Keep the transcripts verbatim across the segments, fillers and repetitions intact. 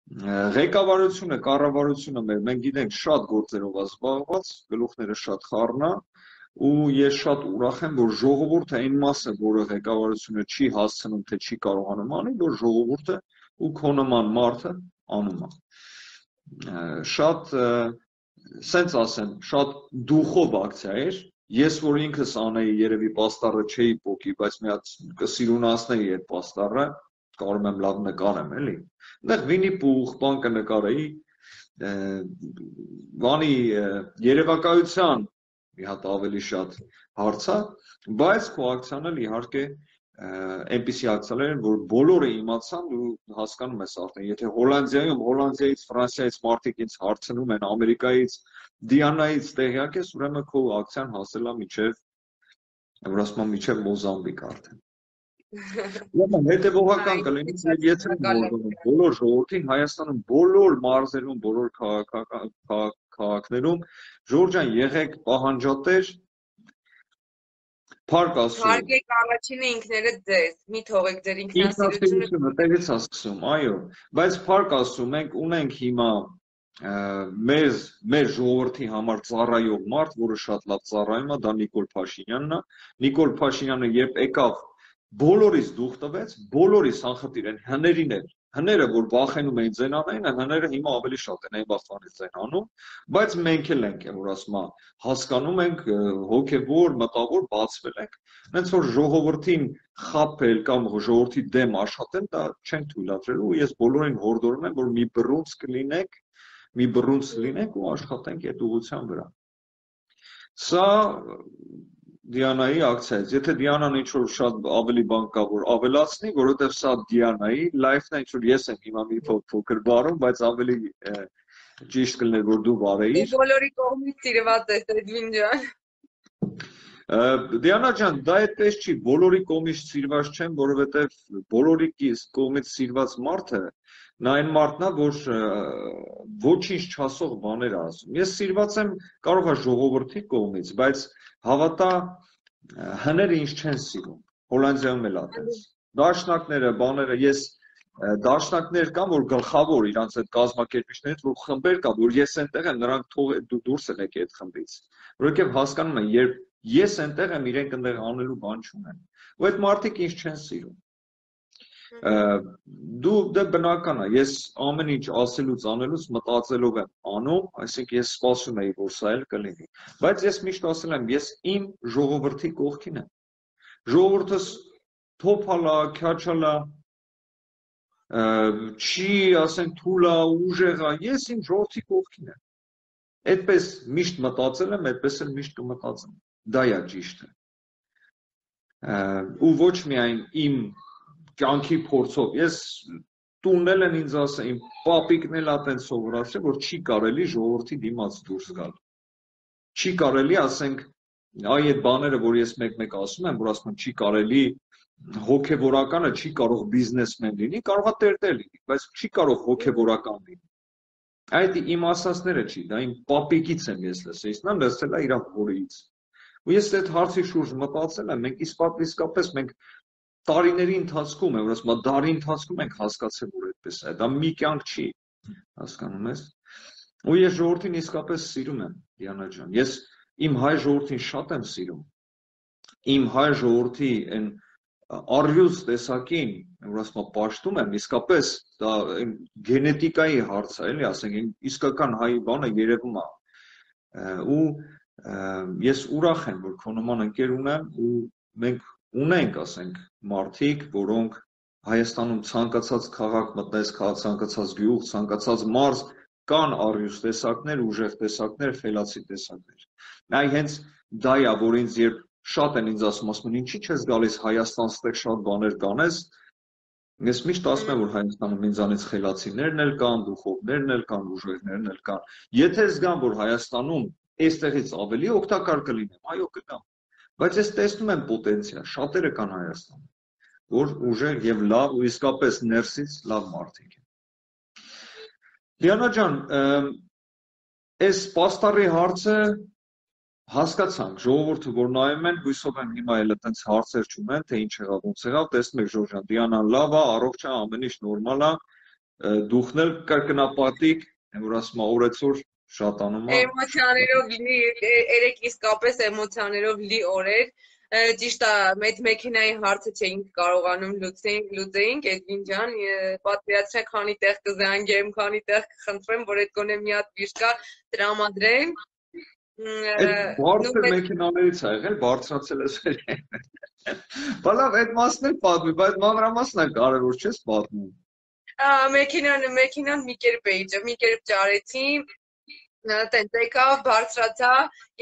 Ղեկավարությունը, կառավարությունը մեր մենք գիտենք շատ գործերով զբաղված, գլուխները շատ խառն է, ու ես շատ ուրախ եմ, որ ժողովուրդը այն մասը, որը ղեկավարությունը չի հասցնում, թե չի կարողանում անի, որ ժողովուրդը ու քո նման մարդը անում է։ Շատ, սենց ասեմ, շատ դուխով ակցիա էր։ Ես որ ինքս անեի, երևի պաստառը չէի պոկի, բայց մի հատ կսիրունացնեի այդ պաստառը, կարող եմ լավ նկարեմ, էլի։ Այնտեղ Վինի Պուխ, բան կնկարեի, բանի երևակայության մի հատ ավելի շատ հարց է, բայց քո ակցիան էլ իհարկե այնպիսի ակցիաներ են, որ բոլորը իմացան ու հասկանում ես արդեն, եթե Հոլանդիայում, Հոլանդիայից, Ֆրանսիայից մարդիկ ինձ հարցնում են, Ամերիկայից, Դիանայից տեղյակ ես, ուրեմն քո ակցիան հասել է մինչև, որ ասում եմ, մինչև Մոզամբիկ արդեն։ Ուրեմն հետևողական կլինի, եթե բոլոր ժողովրդին Հայաստանում, բոլոր մարզերում, բոլոր քաղաքներում, Ժորժ ջան, եղեք պահանջատեր, Փառք Աստծո։ Հարգեք առաջինը ինքներդ ձեզ, մի թողեք ձեր ինքնասիրությունը տեղից է սկսում, այո, բայց Փառք Աստծո, մենք ունենք հիմա մեզ մեր ժողովրդի համար ծառայող մարդ, որը շատ լավ ծառայում է, դա Նիկոլ Փաշինյանն է։ Նիկոլ Փաշինյանը երբ եկավ, բոլորիս դուխ տվեց, բոլորիս անխտիր են, հներին էլ, հները, որ վախենում էին ձեն անային, հները հիմա ավելի շատ են այն բախտանից ձեն անում, բայց մենք էլ ենք, որ ասում եմ, հասկանում ենք, հոգևոր, մտավոր բացվել ենք, հենց որ ժողովրդին խաբել կամ ժողովրդի դեմ աշխատել, դա չենք թույլատրել ու ես բոլորին հորդորում եմ, որ մի բռունց կլինեք, մի բռունց լինենք ու աշխատենք այդ ուղղության վրա։ Սա Դիանայի ակցիայից, եթե Դիանան ինչ-որ շատ ավելի բան կա, որ ավելացնի, որովհետև սա Դիանայի լայֆն է, ինչ-որ ես եմ հիմա մի փոքր բարում, բայց ավելի ճիշտ կլներ, որ դու բարեիր։ Դու բոլորի կողմից սիրված ես, Էդվին ջան։ Դիանա ջան, դա այդպես չի, բոլորի կողմից սիրված չեմ, որովհետև բոլորի կողմից սիրված մարդը նա այն մարդն է, որ ոչինչ չասող բաներ ասում։ Ես սիրված եմ կարող է ժողովրդի կողմից, բայց հավատա հները ինչ չեն սիրում, Հոլանդիայում էլ ատենց, դաշնակները, բաները, ես դաշնակներ կան, որ գլխավոր իրանց այդ կազմակերպիչներից, որ խմբեր կա, որ ես այնտեղ եմ, նրանք թող դուրս են եկել այդ խմբից, որովհետև հասկանում են, երբ ես այնտեղ եմ, իրենք այնտեղ անելու բան չունեն, ու այդ մարդիկ ինչ չեն սիրում։ Դու դե բնական է, ես ամեն ինչ ասելուց անելուց մտածելով եմ անում, այսինքն ես սպասում եի, որ սա էլ կլինի, բայց ես միշտ ասել եմ, ես իմ ժողովրդի կողքին եմ, ժողովուրդս թոփալա, քյաչալա, չի, ասենք, թուլա, ուժեղա, ես իմ ժողովրդի կողքին եմ, այդպես միշտ մտածել եմ, այդպես էլ միշտ կմտածեմ, դա է ճիշտը, ու ոչ միայն իմ կյանքի փորձով, ես տունն են ինձ ասել, իմ պապիկն էլ ատեն սովորացրել, որ չի կարելի ժողովրդի դիմաց դուրս գալ։ Չի կարելի, ասենք, այ այդ բաները, որ ես մեկ-մեկ ասում եմ, որ ասում եմ, չի կարելի, հոգևորականը չի կարող բիզնեսմեն լինի, կարող է տերտեր լինի, բայց չի կարող հոգևորական լինի։ Այդ իմ ասածները չի, դա իմ պապիկից եմ ես լսել, նա լսել է իր հորից։ Ու ես այդ հարցի շուրջ մտածել եմ, մենք իսկապես մենք տարիների ընթացքում է, որ ասում եմ, դարի ընթացքում ենք հասկացել, որ այդպես է, դա մի կյանք չի, հասկանում ես։ Ու ես ժողովրդին իսկապես սիրում եմ, Դիանա ջան, ես իմ հայ ժողովրդին շատ եմ սիրում, իմ հայ ժողովրդի այն առյուծ տեսակին, որ ասում եմ, պաշտում եմ, իսկապես դա գենետիկայի հարց է, էլի, ասենք, իսկական հայ բանը երևում է։ Ու ես ուրախ եմ, որ քո նման ընկեր ունեմ ու մենք ունենք, ասենք, մարդիկ, որոնք Հայաստանում ցանկացած քաղաք մտնես, ցանկացած գյուղ, ցանկացած մարզ կան առյուծ տեսակներ, ուժեղ տեսակներ, խելացի տեսակներ։ Այ հենց դա է, որ ինձ երբ շատ են ինձ ասում, ասում են, ինչի՞ չես գալիս Հայաստան, ստեղ շատ բաներ կանես։ Ես միշտ ասում եմ, որ Հայաստանում ինձանից խելացիներն էլ կան, դուխովներն էլ կան, ուժեղներն էլ կան։ Եթե զգամ, որ Հայաստանում այստեղից ավելի օգտակար կլինեմ, այո, կգամ։ Բայց ես տեսնում եմ պոտենցիալ, շատերը կան Հայաստանում, որ ուժեղ եւ լավ ու իսկապես ներսից լավ մարդիկ են։ Դիանա ջան, այս պաստառի հարցը հասկացանք, ժողովուրդը որ նայում են, հույսով եմ հիմա էլ այդպես հարցեր չունեն, թե ինչ եղավ, ոնց եղավ, տեսնում եք Ժորժ ջան, Դիանան լավ է, առողջ է, ամեն ինչ նորմալ է, դուխնել կրկնապատիկ, որ ասում օրեցօր շատանում է։ Էմոցիաներով լի, երեք իսկապես էմոցիաներով լի օրեր։ Ճիշտ է, այդ մեքենայի հարցը չէինք կարողանում լուծեինք, Էդվին ջան, պատկերացրեք քանի տեղ կզանգեմ, քանի տեղ կխնդրեմ, որ այդ գոնե մի հատ վիշկա տրամադրեն։ Այդ բարձր մեքենաներից ա եղել, բարձրացել ես էլ։ Բալավ, այդ մասն էլ պատմի, բայց մանրամասն է կարևոր չես պատմում։ Մեքենան, մեքենան մի կերպ էի, մի կերպ ճարեցի, տենց եկավ, բարձրացա,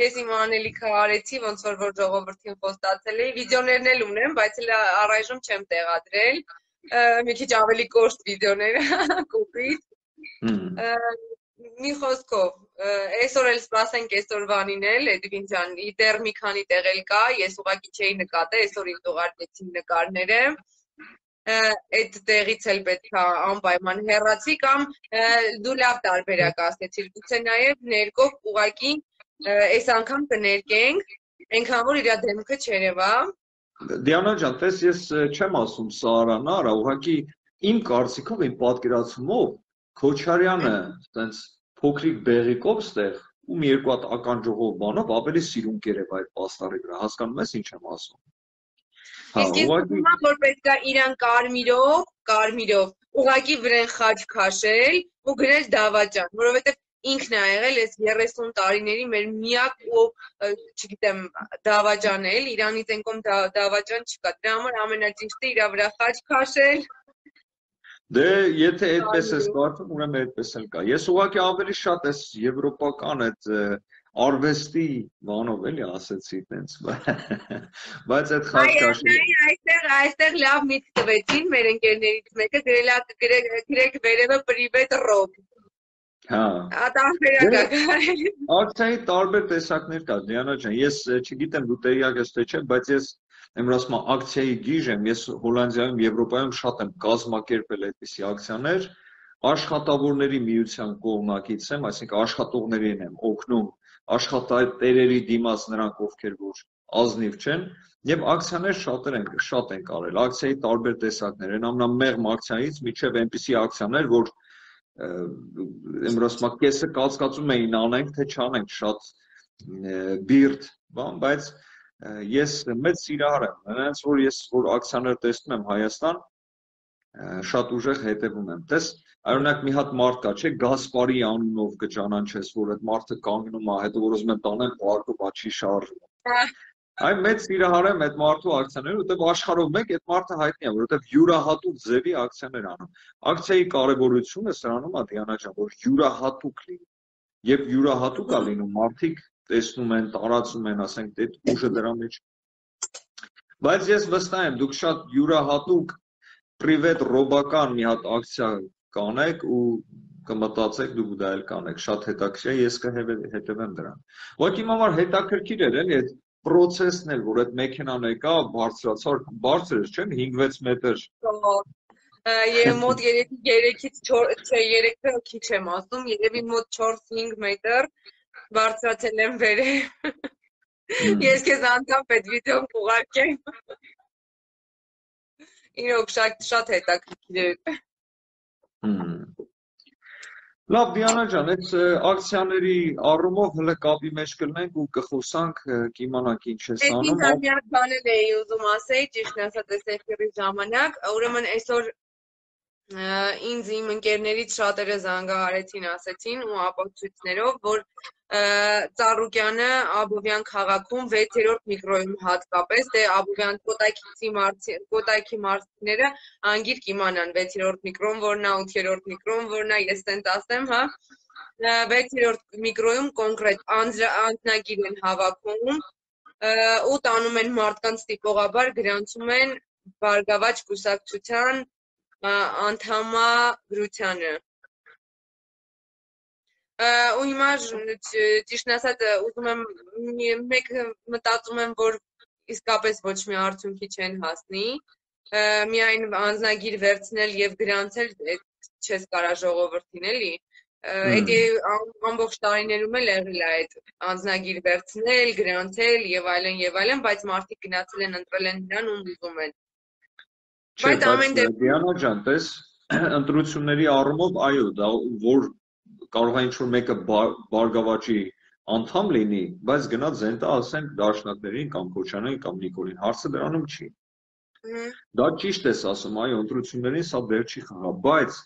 ես իմ անելիքը արեցի, ոնց որ որ ժողովրդին խոստացել էի, վիդեոներն էլ ունեմ, բայց էլ առայժմ չեմ տեղադրել, մի քիչ ավելի կոշտ վիդեոներ, կոպիտ, մի խոսքով, այսօր էլ սպասենք այսօրվանին էլ, Էդվին ջան, դեռ մի քանի տեղ էլ կա, ես ուղղակի չէի նկատել, այսօր ինձ ուղարկեցին նկարները, այդ տեղից էլ պետք է անպայման հեռացի կամ դու լավ տարբերակ ասեցիր, գուցե նաև ներկով ուղղակի այս անգամ կներկենք, այնքան որ իր դեմքը չերևա։ Դիանա ջան, տես ես չեմ ասում Սարան արա, ուղղակի իմ կարծիքով, իմ պատկերացումով Քոչարյանը տենց փոքրիկ բեղիկով ստեղ ու մի երկու հատ ականջողով բանով ավելի սիրուն կերև այդ պաստառի վրա, հասկանում ես ինչ եմ ասում։ Իսկ ես ուզում եմ, որ պետք է իրան կարմիրով, կարմիրով, ուղղակի վրան խաչ քաշել ու գրել դավաճան, որովհետև ինքն է եղել այս երեսուն տարիների մեր միակ ու, չգիտեմ, դավաճան էլ, Իրանից ենկոմ դավաճան չկա, դրա համար ամենաճիշտը իրա վրա խաչ քաշել։ Դե, եթե այդպես ես կարծում, ուրեմն այդպես էլ կա։ Ես ուղղակի ավելի շատ այս եվրոպական այդ արվեստի բանով էլի ասեցի տենց, բայց այդ խաչքաշը այստեղ այստեղ լավ միտք տվեցին մեր ընկերներից մեկը, գրեք վերևը պրիվետ ռոբ։ Հա։ Տարբերակ կա։ Ակցիայի տարբեր տեսակներ կա, Դիանա ջան, ես չգիտեմ դու տեղյակ ես թե չէ, բայց ես եմ ասում ակցիայի գիժ եմ, ես Հոլանդիայում, Եվրոպայում շատ եմ կազմակերպել այդպիսի ակցիաներ, աշխատավորների միության կողմնակից եմ, այսինքն աշխատողներին եմ օգնում աշխատատերերի դիմաց նրանք ովքեր որ ազնիվ չեն եւ ակցիաներ շատեր են շատ են կարել ակցիայի տարբեր տեսակներ են ամենամեղմ ակցիայից միջև այնպիսի ակցիաներ որ ըմրոսմա կեսը կասկածում էին անենք թե չանենք շատ բիրտ բան բայց ես մեծ սիրահար եմ նրանց որ ես որ ակցիաներ տեսնում եմ Հայաստան շատ ուժեղ հետևում եմ տես Օրինակ մի հատ մարդ կա, չէ, Գասպարի անունով կճանաչես, որ այդ մարդը կանգնում է, հետո որ ուզում են տանեն պարկով աչի շարժում։ Այն մեծ սիրահար եմ այդ մարդու ակցիաները, որտեղ աշխարհով մեկ այդ մարդը հայտնի է, որովհետև յուրահատուկ ձևի ակցիաներ անում։ Ակցիայի կարևորությունը սրանում է Դիանա ջան, որ յուրահատուկ լինի։ Երբ յուրահատուկ է լինում, մարդիկ տեսնում են, տարածում են, ասենք, այդ ուժը դրա մեջ։ Բայց ես վստահ եմ, դուք շատ յուրահատուկ պրիվետ ռոբական մի հատ ակցիա կանեք ու կմտածեք դուք դա էլ կանեք շատ հետաքրքիր է ես կհետևեմ դրան ուղղակի իմ համար հետաքրքիր էր էլի այդ process-ն էլ որ այդ մեքենան եկա բարձրացար բարձր էր չէ՞ հինգ-վեց մետր Եվ մոտ երեքից չորս չէ երեքը քիչ եմ ասում երևի մոտ չորս-հինգ մետր բարձրացել եմ վերև ես քեզ անգամ այդ վիդեոն կուղարկեմ իրոք շատ շատ հետաքրքիր էր Լավ Դիանա ջան, այդ ակցիաների առումով հələ կապի մեջ կլինենք ու կխոսանք, կիմանանք ինչ ես անում։ Ես միակ բանել էի ուզում ասել, ճիշտն ասած այս էֆիրի ժամանակ, ուրեմն այսօր ինձ իմ ընկերներից շատերը զանգահարեցին, ասեցին ու ապացույցներով, որ Ծառուկյանը Աբովյան քաղաքում վեցերորդ միկրոյում հատկապես, դե Աբովյան կոտայքի մարդիկները անգիր կիմանան վեցերորդ միկրոն որն է, ութերորդ միկրոն որն է, ես տենց ասեմ, հա, վեցերորդ միկրոյում կոնկրետ անձնագիր են հավաքում ու տանում են մարդկանց տիպողաբար գրանցում են Բարգավաճ կուսակցության անդամագրությանը ու հիմա ճիշտն ասած ուզում եմ մեկ մտածում եմ որ իսկապես ոչ մի արդյունքի չեն հասնի միայն անձնագիր վերցնել եւ գրանցել չես կարա ժողովրդին էլի այդ ամբողջ տարիներում էլ եղել է այդ անձնագիր վերցնել գրանցել եւ այլն եւ այլն բայց մարդիկ գնացել են ընտրել են նրան ու ուզում են բայց ամեն դեպքում Դիանա ջան տես ընտրությունների առումով այո, դա որ կարող է ինչ-որ մեկը բարգավաճի անդամ լինի, բայց գնաց զենտա ասենք դաշնակներին կամ Քոչարյանին կամ Նիկոլին, հարցը դրանում չի։ Դա ճիշտ ես ասում, այո, ընտրություններին սա դեր չի խաղա, բայց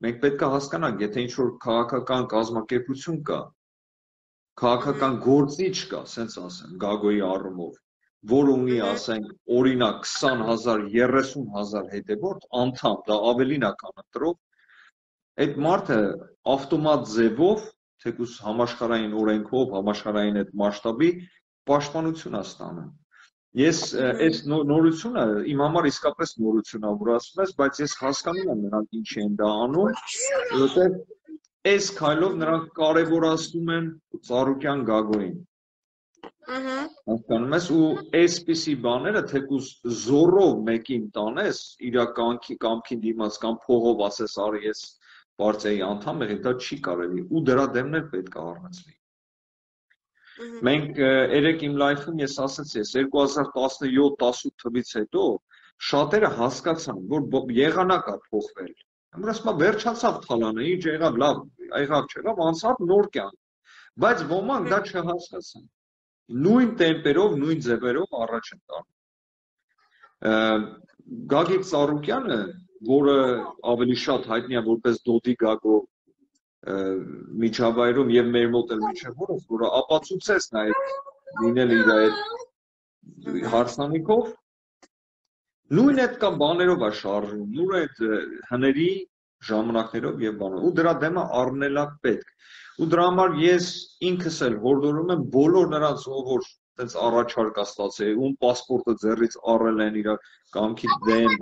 մենք պետք է հասկանանք, եթե ինչ-որ քաղաքական կազմակերպություն կա, քաղաքական գործիչ կա, ասենց ասեմ, Գագոյի առումով, որ ունի, ասենք, օրինակ քսան հազար, երեսուն հազար հետևորդ, անդամ, դա ավելին է քան ընտրող, այդ մարդը ավտոմատ ձևով, թեկուզ համաշխարհային օրենքով, համաշխարհային այդ մասշտաբի պաշտպանություն է ստանում։ Ես այս նորությունը իմ համար իսկապես նորություն է, որ ասում ես, բայց ես հասկանում եմ նրանք ինչ են դա անում, որովհետև այս քայլով նրանք կարևորացնում են Ծառուկյան Գագոյին։ Հասկանում ես, ու այսպիսի բաները թեկուզ զորով մեկին տանես, իր կամքին դիմաց կամ փողով ասես արի ես պարտիայի անդամ եղի, դա չի կարելի, ու դրա դեմն էլ պետք է առնեցվի։ Մենք երեք իմ լայֆում ես ասացի, ես երկու հազար տասնյոթ տասնութ թվից հետո շատերը հասկացան, որ եղանակ է փոխվել։ Որ ասում վերջացավ թալանը, ինչ եղավ, լավ, եղավ չեղավ, անցավ նոր կյանք։ Բայց ոմանք դա չհասկացան։ Նույն տեմպերով, նույն ձևերով առաջ են տանում։ Գագիկ Ծառուկյանը, որը ավելի շատ հայտնի է որպես Դոդի Գագո միջավայրում եւ մեր մոտ էլ միջև որս, որը ապացուցեց նաեւ լինել իր այդ հարսանիքով, նույն այդ կամ բաներով է շարժվում, նույն այդ հների ժամանակներով եւ բանով, ու դրա դեմը առնել է պետք։ Ու դրա համար ես ինքս էլ հորդորում եմ բոլոր նրանց, որ այդպես առաջարկ է ստացել, ում պասպորտը ձեռից առել են իր կամքի դեմ,